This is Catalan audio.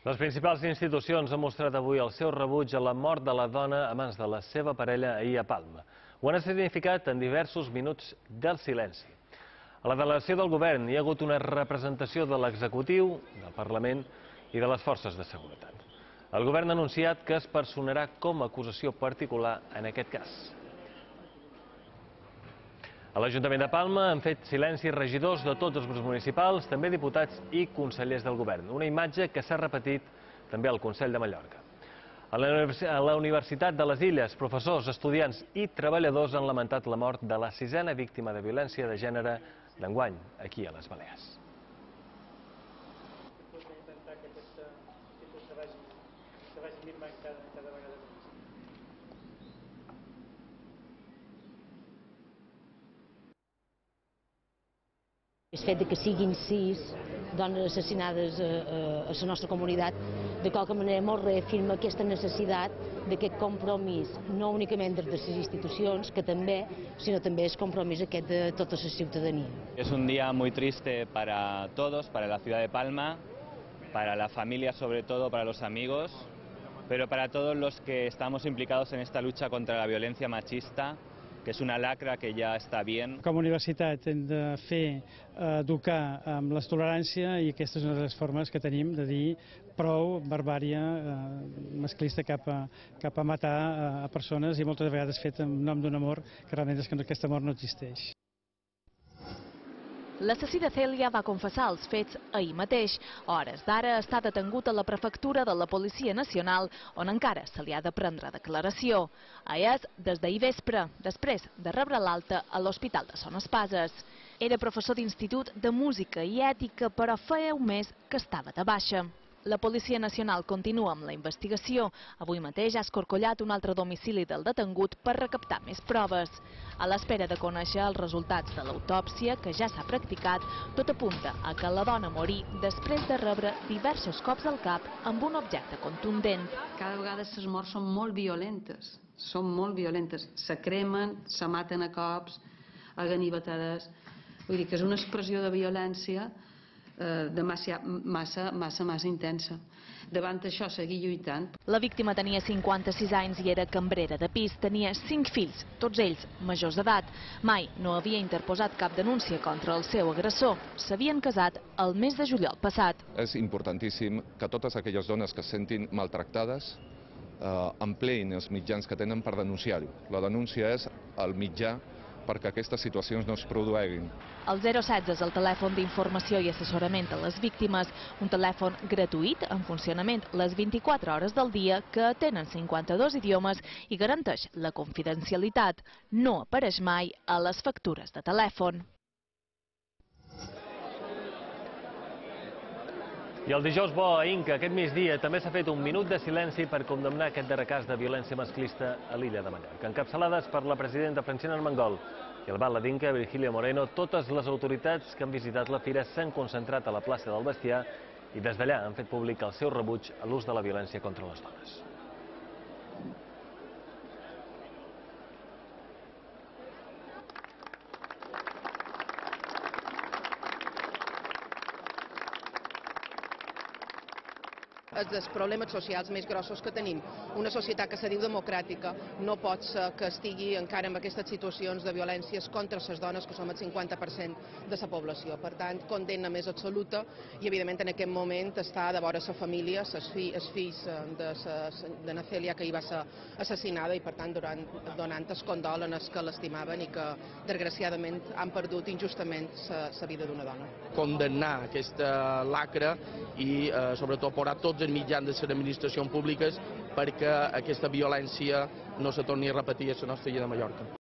Les principals institucions han mostrat avui el seu rebuig a la mort de la dona a mans de la seva parella ahir a Palma. Ho han significat en diversos minuts del silenci. A la delegació del govern hi ha hagut una representació de l'executiu, del Parlament i de les forces de seguretat. El govern ha anunciat que es personarà com a acusació particular en aquest cas. A l'Ajuntament de Palma han fet silenci regidors de tots els grups municipals, també diputats i consellers del govern. Una imatge que s'ha repetit també al Consell de Mallorca. A la Universitat de les Illes, professors, estudiants i treballadors han lamentat la mort de la 6a víctima de violència de gènere d'enguany, aquí a les Balears. El fet que siguin 6 dones assassinades a la nostra comunitat, de qualque manera ens reafirma aquesta necessitat d'aquest compromís, no únicament des de les institucions, que també, sinó també el compromís aquest de tota la ciutadania. Es un día muy triste para todos, para la ciudad de Palma, para la familia sobre todo, para los amigos, pero para todos los que estamos implicados en esta lucha contra la violencia machista, que és una lacra que ja està bien. Com a universitat hem de fer educar amb la tolerància i aquesta és una de les formes que tenim de dir prou barbària masclista cap a matar a persones i moltes vegades fet en nom d'un amor que realment és que aquest amor no existeix. L'assassí de Cèlia va confessar els fets ahir mateix. A hores d'ara està detengut a la prefectura de la Policia Nacional, on encara se li ha de prendre declaració. És des d'ahir vespre, després de rebre l'alta a l'Hospital de Son Espases. Era professor d'institut de música i ètica, però feia un mes que estava de baixa. La Policia Nacional continua amb la investigació. Avui mateix ha escorcollat un altre domicili del detengut per recaptar més proves. A l'espera de conèixer els resultats de l'autòpsia, que ja s'ha practicat, tot apunta a que la dona morí després de rebre diversos cops al cap amb un objecte contundent. Cada vegada les morts són molt violentes, se cremen, se maten a cops, a ganivetades. Vull dir que és una expressió de violència massa intensa. Davant això, seguir lluitant. La víctima tenia 56 anys i era cambrera de pis. Tenia 5 fills, tots ells majors d'edat. Mai no havia interposat cap denúncia contra el seu agressor. S'havien casat el mes de juliol passat. És importantíssim que totes aquelles dones que es sentin maltractades empleïn els mitjans que tenen per denunciar-ho. La denúncia és el mitjà perquè aquestes situacions no es produeixin. El 016 és el telèfon d'informació i assessorament a les víctimes, un telèfon gratuït en funcionament les 24 hores del dia que atén en 52 idiomes i garanteix la confidencialitat. No apareix mai a les factures de telèfon. I el dijous bo a Inca, aquest migdia, també s'ha fet un minut de silenci per condemnar aquest darrer cas de violència masclista a l'illa de Mallorca. Encapçalades per la presidenta Francina Armengol i el batlle d'Inca, Virgilio Moreno, totes les autoritats que han visitat la fira s'han concentrat a la plaça del Bestiar i des d'allà han fet públic el seu rebuig a l'ús de la violència contra les dones. És dels problemes socials més grossos que tenim. Una societat que se diu democràtica no pot ser que estigui encara en aquestes situacions de violències contra les dones, que som el 50% de la població. Per tant, condemna més absoluta i, evidentment, en aquest moment està de vora la família, els fills de na Cèlia, que hi va ser assassinada i, per tant, donant el condol a els que l'estimaven i que, desgraciadament, han perdut injustament la vida d'una dona. Condemnar aquesta lacra i, sobretot, posar tots els mitjans de les administracions públiques perquè aquesta violència no se torni a repetir a la nostra illa de Mallorca.